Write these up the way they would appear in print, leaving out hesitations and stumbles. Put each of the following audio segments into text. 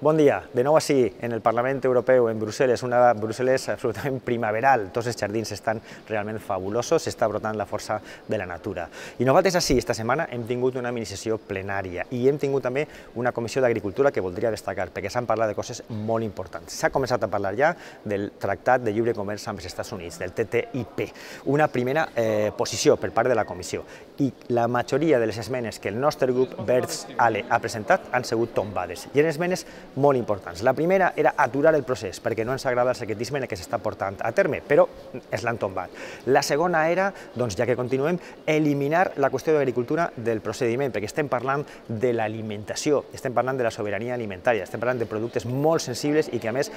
Bon dia, de nou així, en el Parlament Europeu, en Brussel·les, una Brussel·les absolutament primaveral. Tots els jardins estan realment fabulosos, s'està brotant la força de la natura. I nosaltres així, esta setmana, hem tingut una mini-sessió plenària i hem tingut també una comissió d'agricultura que voldria destacar, perquè s'han parlat de coses molt importants. S'ha començat a parlar ja del Tractat de Lliure Comerç amb els Estats Units, del TTIP, una primera posició per part de la comissió. I la majoria de les esmenes que el nostre grup Verds-ALE ha presentat han sigut tombades. I eren esmenes molt importants. La primera era aturar el procés, perquè no ens agrada el secretisme que s'està portant a terme, però es l'han tombat. La segona era, doncs ja que continuem, eliminar la qüestió d'agricultura del procediment, perquè estem parlant de l'alimentació, estem parlant de la sobirania alimentària, estem parlant de productes molt sensibles i que a més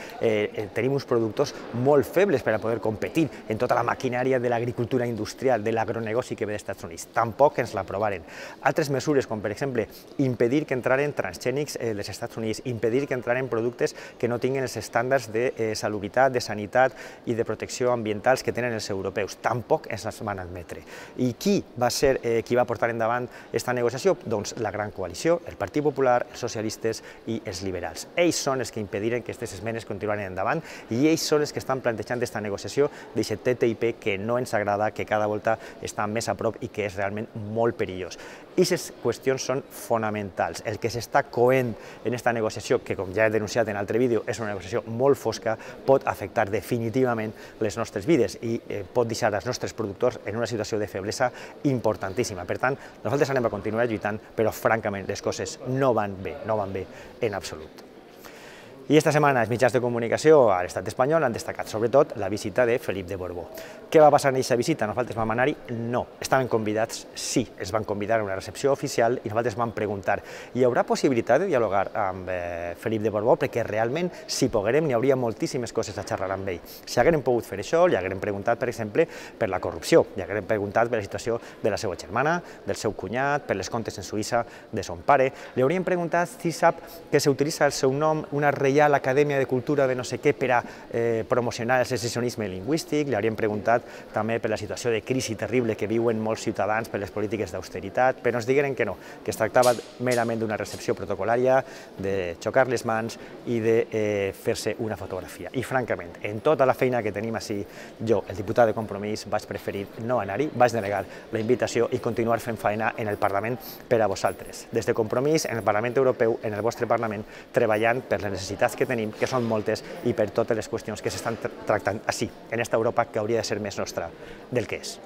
tenim uns productors molt febles per a poder competir en tota la maquinària de l'agricultura industrial, de l'agronegoci que ve dels Estats Units. Tampoc ens l'aprovaren. Altres mesures, com per exemple impedir que entraren transgènics dels Estats Units, impedir que entraren productes que no tinguin els estàndards de salubritat, de sanitat i de protecció ambientals que tenen els europeus. Tampoc ens les van admetre. I qui va ser qui va portar endavant aquesta negociació? Doncs la gran coalició, el Partit Popular, els socialistes i els liberals. Ells són els que impediren que aquestes esmenes continuïn endavant i ells són els que estan plantejant aquesta negociació d'aquest TTIP que no ens agrada, que cada volta està més a prop i que és realment molt perillós. Aquestes qüestions són fonamentals. El que s'està coent en aquesta negociació, que com ja he denunciat en altre vídeo, és una negociació molt fosca, pot afectar definitivament les nostres vides i pot deixar els nostres productors en una situació de feblesa importantíssima. Per tant, nosaltres anem a continuar lluitant, però francament les coses no van bé en absolut. I esta setmana els mitjans de comunicació a l'estat espanyol han destacat sobretot la visita de Felip de Borbó. Què va passar en aquesta visita? Nosaltres vam anar-hi? No. Estaven convidats? Sí. Els van convidar a una recepció oficial i nosaltres vam preguntar hi haurà possibilitat de dialogar amb Felip de Borbó? Perquè realment, si poguérem, n'hi hauria moltíssimes coses a xerrar amb ell. Si haguérem pogut fer això, li haguérem preguntat, per exemple, per la corrupció, li haguérem preguntat per la situació de la seva germana, del seu cunyat, per les comptes en Suïssa de son pare, li hauríem preguntat si sap que s'utilitza el seu nom, una Reial Acadèmia de Cultura de no sé què per a promocionar el secessionisme lingüístic, li hauríem preguntat també per la situació de crisi terrible que viuen molts ciutadans per les polítiques d'austeritat, però ens digueren que no, que es tractava merament d'una recepció protocolària, de xocar les mans i de fer-se una fotografia. I francament, en tota la feina que tenim així, jo, el diputat de Compromís, vaig preferir no anar-hi, vaig denegar la invitació i continuar fent feina en el Parlament per a vosaltres. Des de Compromís, en el Parlament Europeu, en el vostre Parlament, treballant per les necessitats que tenim, que són moltes, i per totes les qüestions que s'estan tractant així, en esta Europa que hauria de ser més nostra del que és.